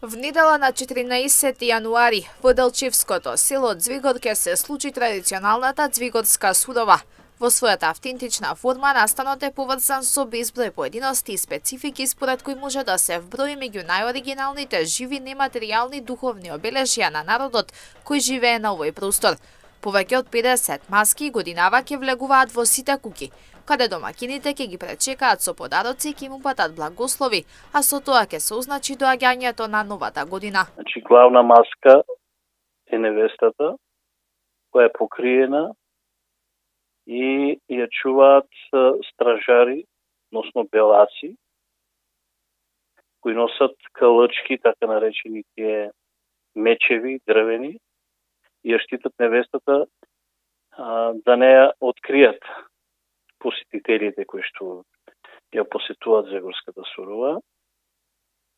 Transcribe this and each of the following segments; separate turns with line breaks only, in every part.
В недела на 14 јануари во Делчевското село Ѕвегор ќе се случи традиционалната Ձвегорска сурова. Во својата автентична форма настанот е поврзан со безброј поединости и специфики според кои може да се вброи меѓу најоригиналните живи нематеријални духовни обележја на народот кој живее на овој простор. Повеќе од 50 маски годинава ќе влегуваат во сите куќи, каде домакините ќе ги пречекаат со подароци и ќе му патат благослови, а со тоа ќе се означи доаѓањето на новата година.
Значи, главна маска е невестата, која е покриена и ја чуваат стражари, односно белаци, кои носат калачки, така наречени тие мечеви, дрвени, и ја штитат невестата да не ја откријат посетителите кои што ја посетуваат Ձвегорската сурова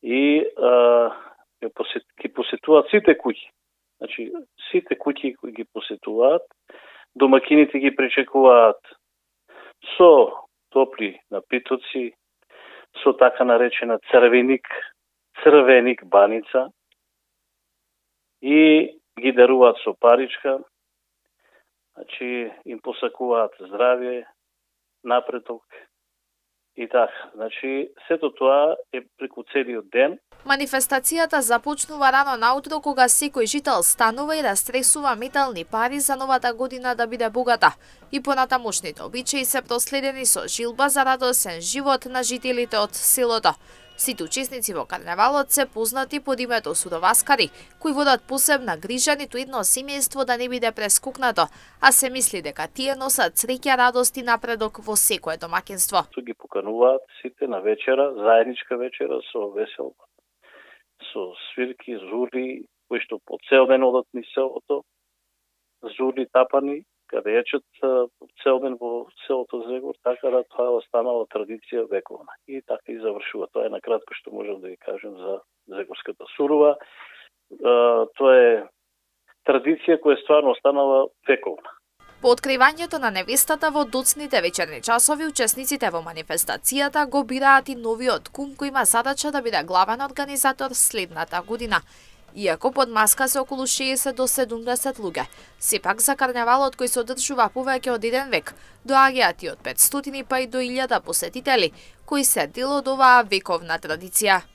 и ќе посетуваат сите куќи. Значи, сите куќи кои ги посетуваат, домакините ги пречекуваат со топли напитоци, со така наречена црвеник баница и ги даруваат со паричка, значи им посакуваат здравје, напредок и така. Значи, сето тоа е преку целиот ден.
Манифестацијата започнува рано наутро кога секој жител станува и растресува метални пари за новата година да биде богата. И понатамошните обичаи се проследени со жилба за радосен живот на жителите од селото. Сите учесници во карневалот се познати под името суроваскари, кои водат посебна грижа ниту едно семејство да не биде прескукнато, а се мисли дека тие носат среќа, радост и напредок во секое домаќинство.
Ги покануваат сите на вечера, заедничка вечера со веселба, со свирки, зурли, кои што по цел ден одат низ селото, зурли тапани, каде јачат цел ден во селото Ձвегор, така да тоа останала традиција вековна. И така и завршува. Тоа е накратко што можам да ви кажем за Ձвегорската сурова. Тоа е традиција која стварно останала вековна.
По откривањето на невестата во доцните вечерни часови, учесниците во манифестацијата го бираат и новиот кум кој има задача да биде главен организатор следната година. Иако под маска се околу 60 до 70 луѓе, сепак за карневалот кој се одржува повеќе од 1 век, доаѓаат и од 500 па и до 1000 посетители, кои се дел од оваа вековна традиција.